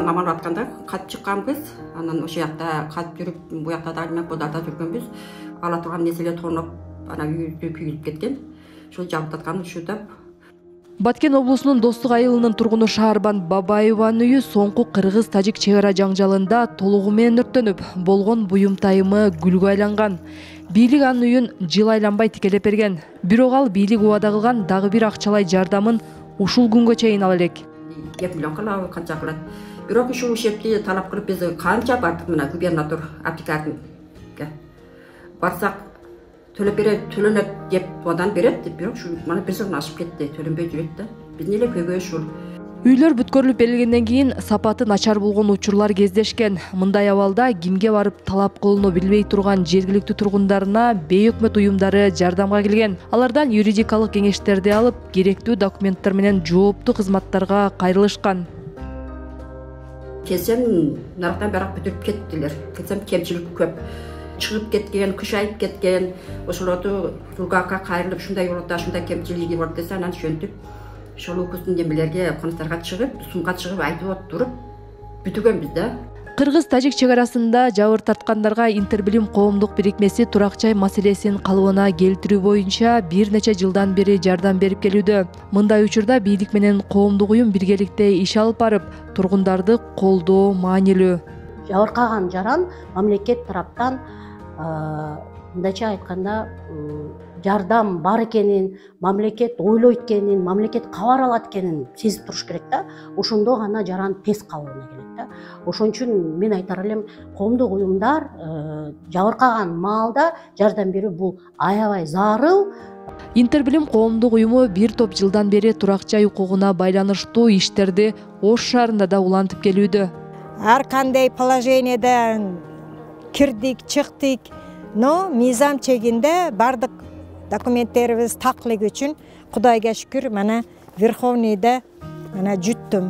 Ошондон аман атканда кат чыкканбыз. Анан ошол жакта кат жүрүп, бу жакта да бодарда жүргөнбүз. Ала турган нерселер тоноп, анан үйдү күйүлүп кеткен. Ошол жабыттаткан ушууда. Баткен облусунун Достук айылынын тургуну Шаарбан Бабаеванын үйү соңку кыргыз-тажик чек ара жаңжалында толугу менен өрттөнүп, болгон буюм тайымы гүлгө айланган. Бийлик анын үйүн жыл айланбай тикелеп берген. Бирок ал бийлик убада кылган дагы бир акчалай жардамын ушул күнгө чейин ала элек. 2 миллион кылабы канча кылат. Бирок ушул ишепти талап кылып биз канча бардык мына губернатор Абдикадимге. Барсак төлөнөт деп одан берет, бирок ушу мана бир жылдан ашып кетти, төлөнбөй жүрөт да. Биздин эле көйгөй ушул. Үйлөр бүткөрүлүп берилгенден кийин сапаты начар болгон учурлар кездешкен. Мындай абалда кимге барып талап кылууну билбей турган жергиликтүү тургундарына бейөкмөт уюмдары жардамга келген. Алардан юридикалык кеңештерди алып, керектүү документтер менен жооптуу кызматтарга кайрылышкан. Келсем, нарактан барак бүтүрүп кеттилер. Келсем, кемчилик көп. Чыгып кеткен, кышайып кеткен, ошолорду Тургакка кайрылып, ушундай болот, ушундай кемчилиги бар десе, анан шөнтүп, ошол укуктун демелерге, конуктарга чыгып, сумга чыгып айтып туруп бүтүргөнбүз да. Кыргыз-тажик чек арасында жабыр тарткандарга Интербилим коомдук бирикмеси турак жай маселесин калыбына келтирүү боюнча бир нече жылдан бери жардам берип келүүдө. Мындай учурда бийлик менен коомдук уюм биргеликте иш алып барып, тургундарды колдоо маанилүү. Жабыркаган жаран мамлекет тараптан мындайча айтканда жардам бар экенин, мамлекет ойлойт экенин, мамлекет кабар алат экенин сезип туруш керек да. Ошондо гана жаран тез калыбына келет да. Ошон үчүн мен айтар элем, коомдук уюмдар жабыркаган маалда жардам берүү бул аябай зарыл. Интербилим коомдук уюму бир топ жылдан бери турак жай укугуна байланыштуу иштерди Ош шаарында да улантып келүүдө. Ар кандай положениеден кирдик, чыктык, но мыйзам чегинде бардык документтерибиз таклык үчүн Кудайга шүкүр, мана Верховныйда мана жүттүм.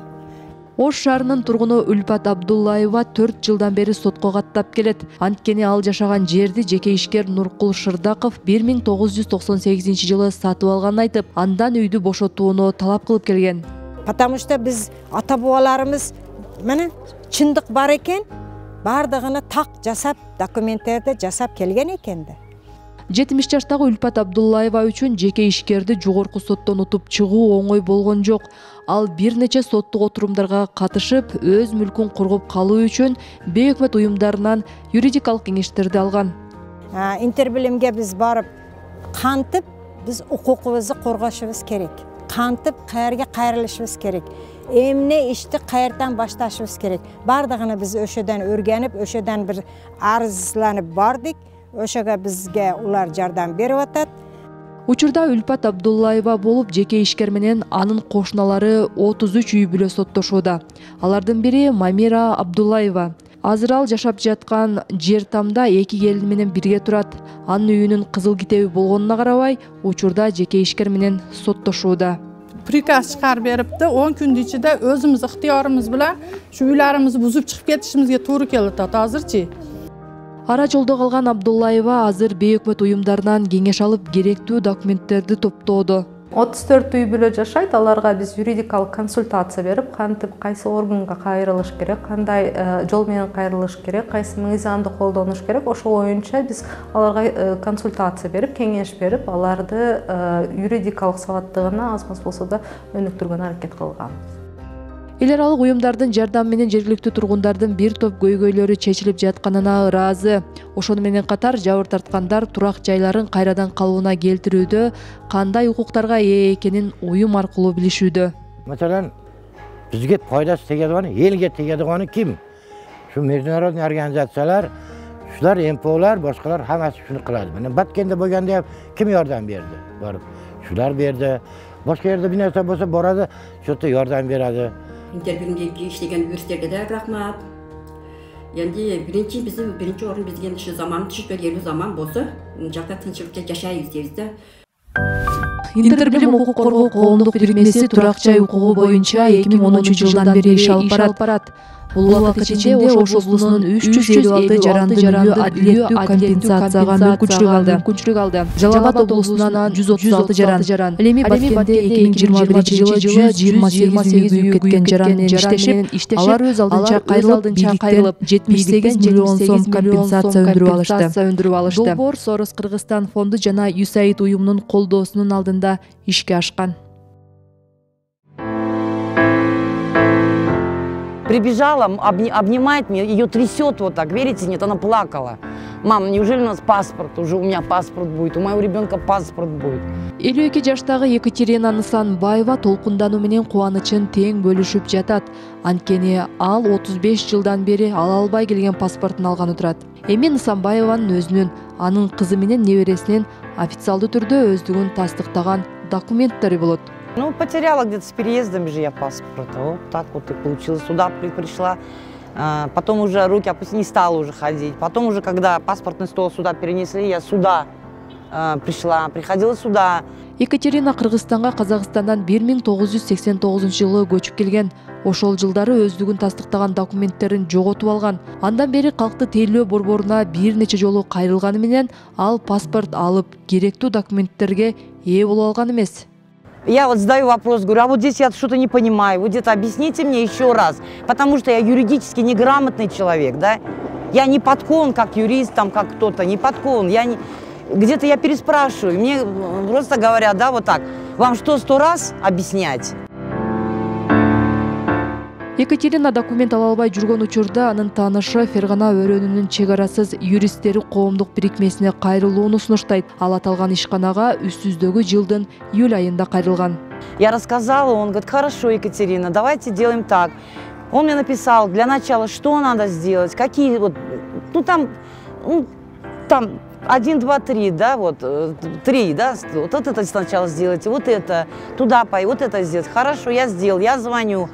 Ош шаарынын тургуну Үлпат Абдуллаева 4 жылдан бери сотко каттап келет. Анткени ал жашаган жерди жеке ишкер Нуркул Шырдаков 1998 жылы сатып алганын айтып, андан үйдү бошотууну талап кылып келген. Потому что биз ата бабаларыбыз мына чындык бар экен, бардыгыны так жасап, документтерди жасап келген экен да. 70 жаштагы Үлпат Абдуллаева үчүн жеке ишкерди жогорку соттон утуп чыгуу оңой болгон жок. Ал бир нече соттук отурумдарга катышып, өз мүлкүн коргоп калуу үчүн бейөкмөт уюмдарынан юридикалык кеңештерди алган. Интербилимге биз барып, кантип биз укугубузду коргошубуз керек. Кантип каерге кайрылышыбыз керек. Эмне ишти каерден башташыбыз керек. Бардыгыны биз өшөдөн өргөнүп, өшөдөн бир арызланып бардык. Ошого бизге улар жардам берип атат. Учурда Үлпат Абдуллаева болуп, жеке ишкер менен анын кошуналары 33 үй бүлө соттошууда. Алардын бири Мамира Абдуллаева. Азыр ал жашап жаткан жер тамда 2 келин менен бирге турат. Анын үйүнүн кызыл китеби болгонуна карабай, учурда жеке ишкер менен соттошууда. Приказ чыгарып берипти, 10 күндүн ичинде өзүбүз ыктыярыбыз менен ушу үйлөрүбүздү бузуп чыгып кетишибизге туура келип атат азырчы. Ара жолдо калган Абдуллаева азыр бейөкмөт уюмдарынан кеңеш алып, керектүү документтерди топтоодо. 34 үй бүлө жашайт, аларга биз юридикалык консультация берип, кантип кайсы органга кайрылыш керек, кандай жол менен кайрылыш керек, кайсы мыйзамды колдонуш керек, ошол боюнча биз аларга консультация берип, кеңеш берип, аларды юридикалык сабаттыгына аз-маз болсо да өнүктүргөнгө аракет кылганбыз. Эл аралык уюмдардын жардамы менен жергиликтүү тургундардын бир топ көйгөйлөрү чечилип жатканына ыраазы. Ошону менен катар жабыр тарткандар турак жайларын кайрадан калыбына келтирүүдө кандай укуктарга ээ экенин уюм аркылуу билишүүдө. Маселен, бизге пайдасы тегедигани, элге тегедигани ким? Şu международный организациялар, шулар МПОлар, башкалар хаммасы шуну кылады. Мына Баткенде болгондо ким жардам берди? Барып, шулар берди. Башка жерде бир нерсе болсо барады, шото жардам берadi. Интербилимге иштеген юристтерге да рахмат. Эndi биринчи орун бизге ушу заман түшүп заман болсо, жакта тынччылыкта жашайбыз дейбиз да. Интербилим укук коргоо коомдук бирикмеси турак жай укугу боюнча 2010 жылдан бери иш алып барат. Бул убакыт ичинде Ош облусунун 356 жаранды үйү адилеттүү компенсацияга мүмкүнчүлүк алды. Жалал Абад облусунан 136 жаран, ал эми Баткенде 2021 жылы 128 үй күйүп кеткен жаран менен иштешип, алар өз алдынча кайрылып, 78 миллион сом компенсация өндүрүп алышты. Долбоор Сорос Кыргызстан фонду жана USAID уюмунун колдоосунун алдында ишке ашкан. Прибежала, обнимает меня, ее трясет вот так, верите, нет, она плакала. Мам, неужели у нас паспорт? Уже у меня паспорт будет, у моего ребенка паспорт будет. 52 жаштагы Екатерина Нысанбаева толкундануу менен кубанычын тең бөлүшүп жатат. Анткени ал 35 жылдан бери ала албай келген паспортун алганы турат. Эми Нысанбаеванын өзүнүн, анын кызы менен небересинин официалдуу түрдө өздүгүн тастыктаган документтери болот. Ну, потеряла где-то с переездом же я паспорт. Вот так вот и получилось. Сюда пришла, потом уже руки опустила, не стала уже ходить. Потом уже, когда паспортный стол сюда перенесли, я сюда приходила сюда. Екатерина Кыргызстанга Казакстандан 1989 жылы көчүп келген. Ошол жылдары өздүгүн тастыктаган документтерин жоготуп алган. Андан бери калктуу тейлөө борборуна бир нече жолу кайрылганы менен ал паспорт алып, керектүү документтерге ээ боло алган эмес. Я вот задаю вопрос, говорю, а вот здесь я что-то не понимаю, вот где-то объясните мне еще раз, потому что я юридически неграмотный человек, да, я не подкован как юрист, там, как кто-то, не подкован, где-то я переспрашиваю, мне просто говорят, да, вот так, вам что, 100 раз объяснять? Екатерина документ ала албай жүргөн учурда анын таанышы Фергана өрөөнүнүн чек арасыз юристтери коомдук бирикмесине кайрылууну сунуштайт. Ал аталган ишканага үстүздөгү жылдын июль айында кайрылган. Я рассказала, он говорит, хорошо, Екатерина, давайте делаем так. Он мне написал для начала, что надо сделать, какие вот, ну там 1, 2, 3, да, вот 3, да, вот это сначала сделайте, вот это, туда пой, вот это сделать. Хорошо, я сделал, я звоню.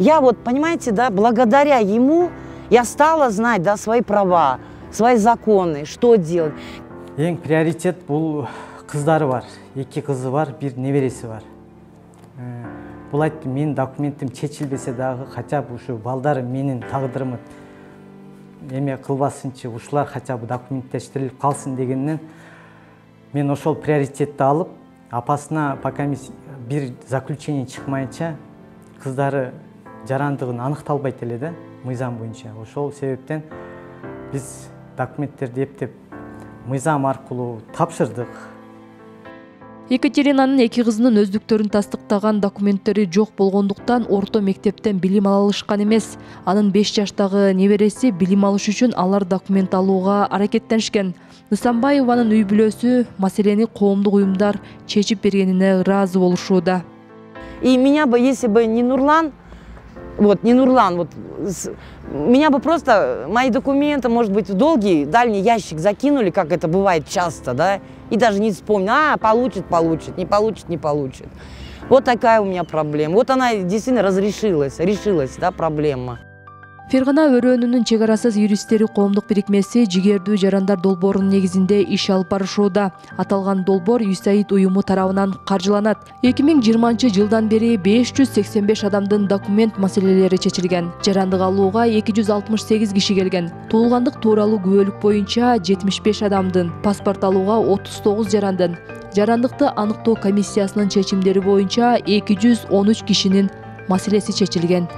Я вот, понимаете, да, благодаря ему я стала знать, да, свои права, свои законы, что делать. Ең приоритет бұл қыздары бар. 2 қызы бар, 1 небереси бар. Бұл айтты, менің документім чечилбесе дағы, хотя бы ушу балдары менің тағдырымы эме кылбасынчы, ушулар хотя бы документтештирилип калсын дегеннен мен ошол приоритетти алып, апасына пока бир заключение чыкмайынча кыздары жарандыгын аныкталбайт эле да, мыйзам боюнча. Ошол себептен биз документтерди эптеп мыйзам аркылуу тапшырдык. Екатеринанын 2 кызынын өздүктөрүн тастыктаган документтери жок болгондуктан орто мектептен билим ала алышкан эмес. Анын 5 жаштагы небереси билим алыш үчүн алар документ алууга аракеттенишкен. Нысанбаеванын үй бүлөсү маселени коомдук уюмдар чечип бергенине ыраазы болушууда. И меня бы, если бы не Нурлан, меня бы просто, мои документы, может быть, в долгий, дальний ящик закинули, как это бывает часто, да, и даже не вспомню, получит, не получит, не получит. Вот такая у меня проблема. Вот она действительно решилась, да, проблема. Фергана өрөөнүнүн чек арасыз юристтери коомдук бирикмеси жигердүү жарандар долбоорунун негизинде иш алып барышууда. Аталган долбоор USAID уюму тарабынан каржыланат. 2020 жылдан бери 585 адамдын документ маселелери чечилген. Жарандык алууга 268 киши келген. Туулгандык тууралуу күбөлүк боюнча 75 адамдын, паспорт алууга 39 жарандын, жарандыкты аныктоо комиссиясынын чечимдери боюнча 213 кишинин маселеси чечилген.